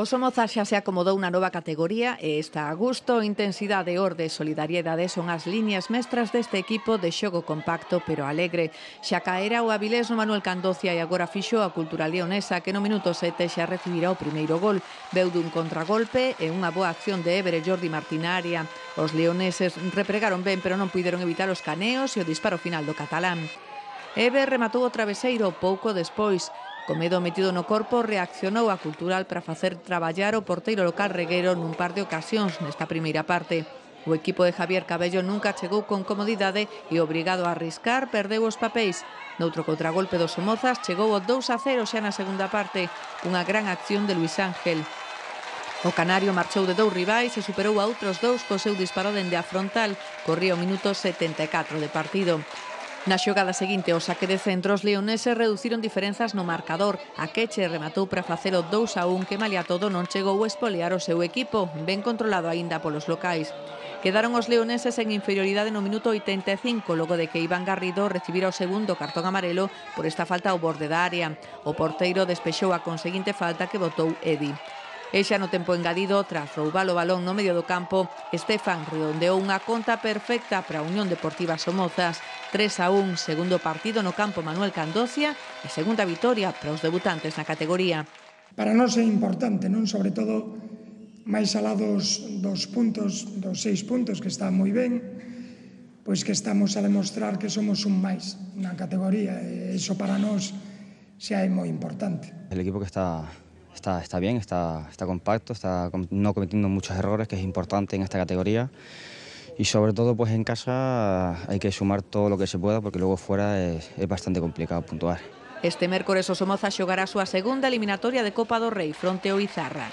O Somozas xa se acomodou na nova categoría e está a gusto. Intensidade, orde e solidariedade son as liñas mestras deste equipo de xogo compacto pero alegre. Xa caera o Avilés no Manuel Candocia e agora fixo a Cultura Leonesa, que no minuto 7 xa recibirá o primeiro gol. Veu dun contragolpe e unha boa acción de Éver e Jordi Martín na área. Os leoneses repregaron ben pero non puideron evitar os caneos e o disparo final do catalán. Éver rematou o traveseiro pouco despois. Co medo metido no corpo, reaccionou a Cultural para facer traballar o porteiro local Reguero nun par de ocasións nesta primeira parte. O equipo de Javier Cabello nunca chegou con comodidade e, obrigado a arriscar, perdeu os papéis. Noutro contragolpe dos Somozas chegou o 2-0 xa na segunda parte, unha gran acción de Luis Ángel. O canario marchou de 2 rivais e superou a outros 2 co seu disparo dende a frontal. Corría o minuto 74 de partido. Na xogada seguinte, o saque de centro, os leoneses reduciron diferenzas no marcador. A Queche rematou para facer o 2-1 que, malia todo, non chegou a espolear o seu equipo, ben controlado aínda polos locais. Quedaron os leoneses en inferioridade no minuto 85, logo de que Iván Garrido recibira o segundo cartón amarelo por esta falta ao borde da área. O porteiro despexou a conseguinte falta que botou Edi. E xa no tempo engadido, tras roubar o balón no medio do campo, Estefan redondeou unha conta perfecta para a Unión Deportiva Somozas. 3-1, segundo partido no campo Manuel Candocia e segunda vitoria para os debutantes na categoría. Para nós é importante, non? Sobre todo, máis alá dos 6 puntos, que está moi ben, pois que estamos a demostrar que somos un máis na categoría, e iso para nós xa é moi importante. El equipo que está bien, está compacto, está no cometiendo muchos errores, que es importante en esta categoría. Y sobre todo, pues en casa hay que sumar todo lo que se pueda, porque luego fuera es bastante complicado puntuar. Este mércores o Somozas xogará a súa segunda eliminatoria de Copa do Rei fronte ao Izarra.